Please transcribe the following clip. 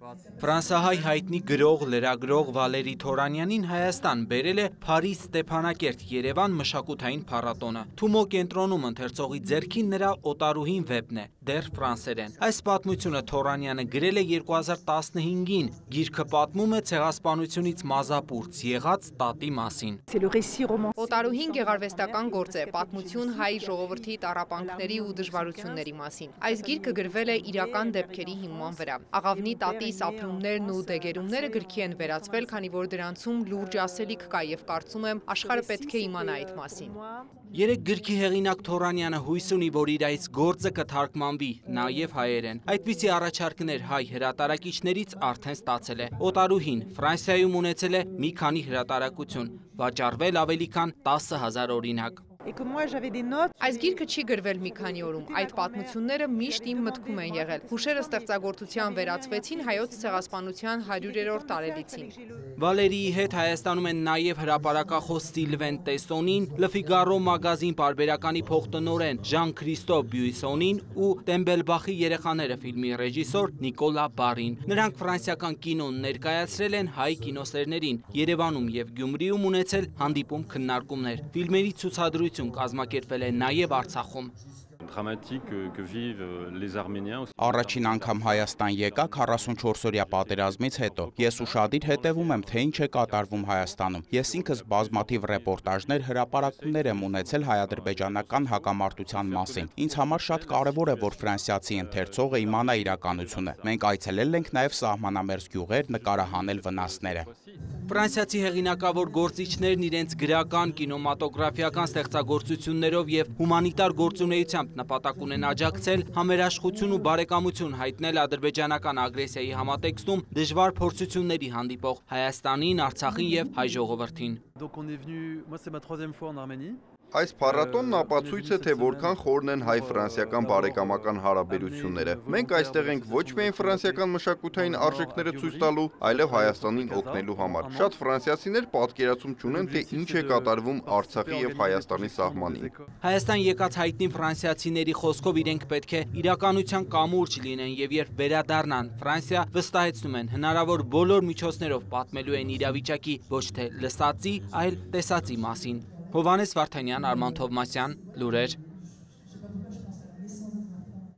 Ֆրանսահայ հայտնի գրող, լրագրող Վալերի Թորանյանին Հայաստան բերել է Փարիզ Ստեփանակերտ Երևան մշակութային փառատոնը։ Թումո կենտրոնում ընթերցողի ձեռքին նրա օտարուհին վեպն է, դեռ ֆրանսերեն։ Այս պատմությունը Թորանյանը գրել է 2015-ին։ Գիրքը պատմում է ցեղասպանությունից մազապուրծ եղած տատի մասին։ Օտարուհին գեղարվեստական գործ է, պատմություն հայ ժողովրդի տառապանքների ու դժվարությունների մասին։ Այս գիրքը գրվել է իրական դեպքերի հիման վրա։ Աղավնի տատի ապրումներն ու դեգերումները գրքի են վերածվել, քանի որ դրանցում լուրջ ասելիք կա եւ կարծում եմ աշխարհը պետք է իմանա այդ մասին։ Երեք գրքի հեղինակ Թորանյանը հույս ունի, որ իր այս գործը կթարգմանվի նաեւ հայերեն։ Այդպիսի առաջարկներ հայ հրատարակիչներից արդեն ստացել է։ Օտարուհին Ֆրանսիայում ունեցել է մի քանի հրատարակություն, վաճառվել ավելի քան 10,000 օրինակ։ Այս գիրքը չի գրվել մի քանի օրում, այդ պատմությունները միշտ իմ մտքում են եղել։ Հուշերը ստեղծագործության վերածվեցին հայոց ցեղասպանության 100-րդ տարելիցին։ Վալերիի հետ Հայաստանում են նաև հրապարակախոս Սիլվեն Տեսոնին, Le Figaro մագազին պարբերականի փոխտնօրեն Ժան-Քրիստոֆ Բյուիսոնին ու Տեմբելբախի երեխաները ֆիլմի ռեժիսոր Նիկոլա Բարին։ Նրանք ֆրանսիական կինոն ներկայացրել են հայ կինոսերներին, Երևանում եւ Գյումրիում ունեցել հանդիպում քննարկումներ։ Ֆիլմերի ցուցադրություն կազմակերպվել է նաև Արցախում։ Առաջին անգամ Հայաստան եկա 44-օրյա պատերազմից հետո։ Ես ուշադիր հետևում եմ, թե ինչ է կատարվում Հայաստանում։ Ես ինքս բազմաթիվ ռեպորտաժներ, հրապարակումներ եմ ունեցել հայ-ադրբեջանական հակամարտության մասին։ Ինձ համար շատ կարևոր է, որ ֆրանսիացի ընթերցողը իմանա իրականությունը։ Մենք այցելել ենք նաև սահմանամերձ գյուղեր, նկարահանել վնասները։ Ֆրանսիացի հեղինակավոր գործիչներն իրենց գրական, կինոմատոգրաֆիական ստեղծագործություններով եւ հումանիտար գործունեությամբ նպատակ ունեն աջակցել համերաշխություն ու բարեկամություն հայտնել ադրբեջանական ագրեսիայի համատեքստում դժվար փորձությունների հանդիպող Հայաստանին, Արցախին եւ հայ ժողովրդին։ Այս փառատոնն ապացույց է, թե որքան խորն են հայ-ֆրանսիական բարեկամական հարաբերությունները։ Մենք այստեղ ենք ոչ միայն ֆրանսիական մշակութային արժեքները ցույց տալու, այլև Հայաստանին օգնելու համար։ Շատ ֆրանսիացիներ պատկերացում չունեն, թե ինչ է կատարվում Արցախի եւ Հայաստանի սահմանին։ Հայաստան եկած հայտնի ֆրանսիացիների խոսքով իրենք պետք է իրականության կամուրջ լինեն եւ երբ վերադառնան Ֆրանսիա, վստահեցնում են հնարավոր բոլոր միջոցներով պատմելու են իրավիճակի ոչ թե լսածի, այլ տեսածի մասին։ Հովհաննես Վարդանյան, Արման Թովմասյան, լուրեր։